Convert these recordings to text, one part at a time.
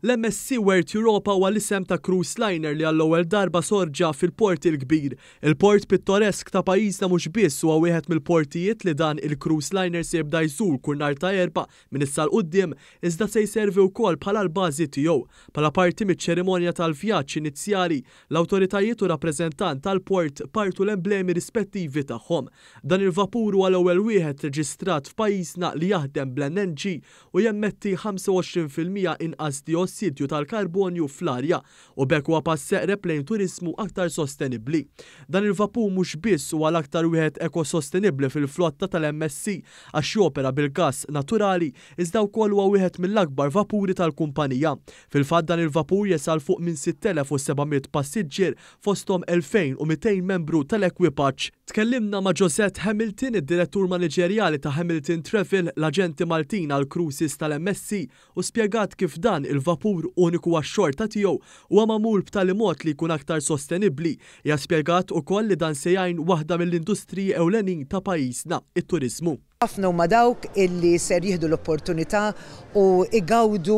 L-MSC World Europa huwa l-isem ta' cruise liner li għall-ewwel darba sorġa fil-Port il-Kbir. Il-port pittoresk ta' pajjiżna mhux biss huwa wieħed mill-portijiet li dan il-cruise liner se jibda jżur kull nhar ta' Erbgħa minn issa 'l quddiem, iżda se jservi wkoll bħala l-bażi tiegħu. Bħala parti miċ-ċerimonja tal-vjaġġ inizjali, l-awtoritajiet u rappreżentant tal-port partu l-emblemi rispettivi tagħhom. Dan il-vapur huwa l-ewwel wieħed reġistrat f'pajjiżna li jaħdem bl-NNG u jemmetti 25% inqas diossidju tal-karbonju fl-arja u b'hekk huwa pass eqreb lejn turiżmu aktar sostenibbli. Dan il-vapur mhux biss huwa l-aktar wieħed ekosostenibbli fil-flotta tal-MSC għax jopera bil-gass naturali iżda wkoll huwa wieħed mill-akbar vapuri tal-kumpanija. Fil-fatt dan il-vapur jesa' 'l fuq minn 6,700 passiġġier fosthom 2,200 membru tal-ekwipaġġ. Tkellimna ma' Josette Hamilton, id-Direttur Maniġerjali ta' Hamilton Travel, l-aġenti Maltin għall-cruises tal-MSC u spjegat kif dan il-vapur uniku għax-xorta tiegħu huwa magħmul b'tali mod li jkun aktar sostenibbli. Hija spjegat ukoll li dan se jgħin waħda mill-industriji ewlenin ta' pajjiżna, it-turiżmu. Ħafna huma dawk illi ser jieħdu l-opportunità u igawdu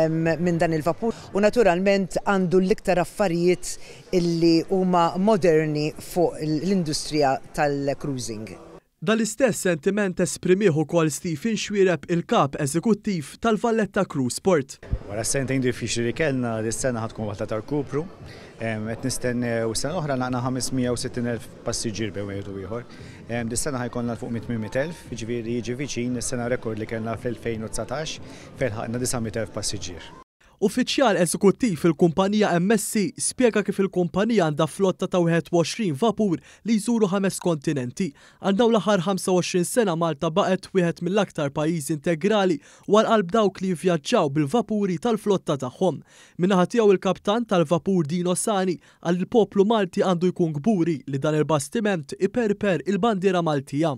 minn dan il-vapur u naturalment għandu l-iktar affarijiet illi huma moderni fuq l-industrija tal-cruising. Dan l-istess sentiment esprimih ukoll Stephen Xuereb, il-kap eżekuttiv tal-Valletta Cruise Port. Wara sentejn diffiċli li kellna, dis-sena ħa tkun waħda ta' rkupru. Qed nistennew sena oħra lħaqna 560,000 passiġġier bejn wieħed u ieħor. Dis-sena ħa jkollna fuq 800,000, jiġifieri jiġi viċin is-sena rekord li kellna fl-2019 fejn lħaqna 900,000 passiġġier. Uffiċjal eżekuttiv fil-kumpanija MSC spjega kif il-kumpanija għandha flotta ta' 21 vapur li jżuru ħames kontinenti. Għal dawn l-aħħar 25 sena Malta baqgħet wieħed mill-aktar pajjiżi integrali u għal qalb dawk li jivvjaġġaw bil-vapuri tal-flotta tagħhom. Min-naħa tiegħu il-kaptan tal-vapur Dino Sani qal il-poplu Malti għandu jkun kburi li dan il-bastiment iperper il-bandiera Maltija.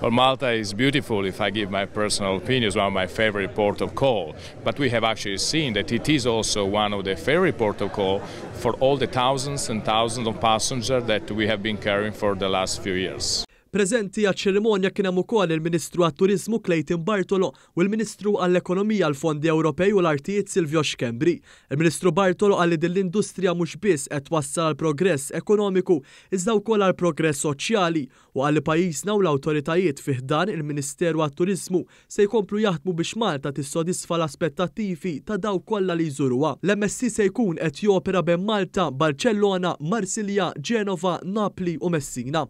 Well, Malta is beautiful, if I give my personal opinion, it's one of my favorite port of call. But we have actually seen that it is also one of the favorite port of call for all the thousands and thousands of passengers that we have been carrying for the last few years. Preżenti għaċ-ċerimonja kien hemm ukoll il-Ministru għat-Turiżmu Clayton Bartolo u l-Ministru għall-Ekonomija, l-Fondi Ewropej u l-Artijiet Silvio Schembri. Il-Ministru Bartolo qal li din l-industrija mhux biss qed twassal għal progress ekonomiku iżda wkoll għal progress soċjali u qal li pajjiżna u l-awtoritajiet fi ħdan il-Ministeru għat-Turiżmu se jkomplu jaħdmu biex Malta tissodisfa l-aspettattivi ta' dawk kollha li jżuruha. L-MSC se jkun qed jopera bejn Malta, Barcellona, Marsilja, Ġenova, Napli u Messina.